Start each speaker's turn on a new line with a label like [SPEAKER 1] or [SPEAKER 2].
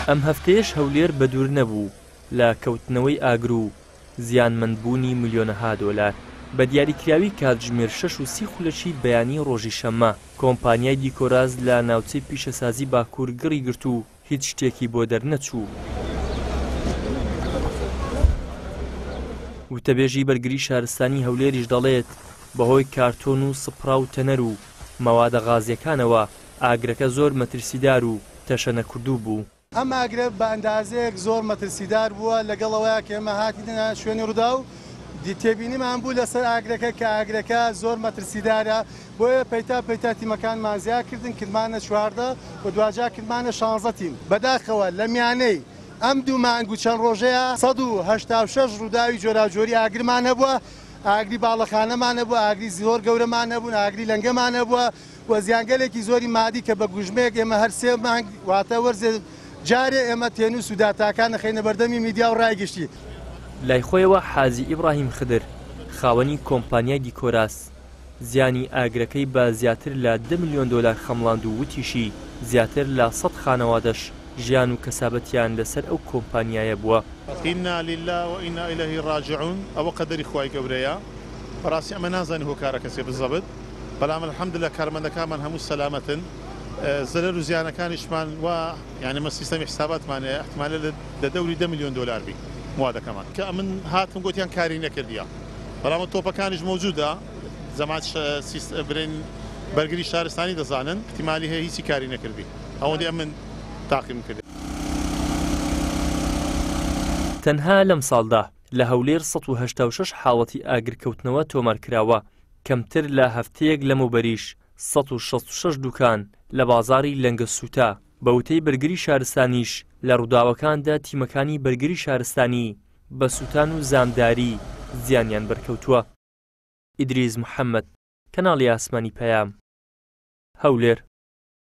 [SPEAKER 1] ئەم هەفتەیەش هەولێر بەدوور نەبوو لە کەوتنەوەی ئاگر و زیانمەندبوونی ملیۆنەها دۆلار. بە دیاریکراوی کاتژمێر شەش و سی خولەکی بەیانی ڕۆژی شەممە، کۆمپانیای دیکۆراز لە ناوچەی پیشەسازی باکوور گڕی گرت و هیچ شتێکی بۆ دەرنەچوو. وتەبێژی بەرگری شارستانی هەولێریش دەڵێت، بەهۆی کارتۆن و سپڕا و تەنەر و مەوادە غازییەکانەوە ئاگرەکە زۆر مەترسیدار و تەشەنەکردوو بوو.
[SPEAKER 2] ئەم ئاگرە بە ئەندازەیەک زۆر مەترسیدار بووە، لەگەڵ ئەوەیا کە ئێمە هاتینە شوێنی ڕووداو، تێبینیمان بوو لەسەر ئاگرەکە کە ئاگرەکە زۆر مەترسیدارە، بۆیە پەیتا پەیتا تیمەکانمان زیاد کردن، کردمانە 14 و دواجار کردمانە 16 تیم. بەداخەوە لە میانەی ئەم دوو مانگ و چەند ڕۆژەیا 186 ڕووداوی جۆراوجۆری ئاگرمان هەبووە، ئاگری باڵەخانەمان هەبووە، ئاگری زۆر گەورەمان هەبوون، ئاگری لەنگەمان هەبووە و زیانگەلێکی زۆری مادی کە بە گوژمەیەک ئێمە هەر سێ مانگ واتە وەرزێ جارێ ئێمە تێنووس و داتاکان ئەخەینە بەردەمی میدیا و ڕای گشتی.
[SPEAKER 1] لای خۆیەوە حاجی ئیبڕاهیم خدر، خاوەنی کۆمپانیای دیکۆراس، زیانی ئاگرەکەی بە زیاتر لە دە ملیۆن دۆلار خەمڵاند و وتیشی، زیاتر لە سەد خانەوادەش ژیان و کەسابەتیان لەسەر ئەو کۆمپانیایە بووە.
[SPEAKER 3] انا للە و انا الیه راجعون ئەوە قەدەری خوای گەورەیە بەڕاستی ئەمە نازانین هۆکارەکە چیە بزەبت بەلام الحمدللە کارمەندەکانمان هەموو سەلامەتن زەرەر و زیانەکانیشمان وا یانی ئەمە سیستەمی حساباتمان هەیە احتمالە لە دەوری دە ملیۆن دۆلار بی موادەکەمان کە ئەمن هاتم گۆتیان کاری نەکردیە بەڵام تۆپەکانیش مەوجودە جەماعەت برێن بەرگری شارستانی دەزانن احتمالی هەیە هیچی کاری نەکردبی ئەوەندەی ئەمن تاقیم کرد.
[SPEAKER 1] تەنها لەمساڵدا لە هەولێر 186 حاڵەتی ئاگرکەوتنەوە تۆمارکراوە، کەمتر لە هەفتەیەک لەمەوبەریش 166 دوکان لە بازاڕی لەنگە سووتا، بە وتەی بەرگری شارستانیش لە ڕووداوەکاندا تیمەکانی بەرگری شارستانی بە سووتان و زامداری زیانیان بەرکەوتووە. ئیدریس محەمەد، کەناڵی ئاسمانی پەیام، هەولێر.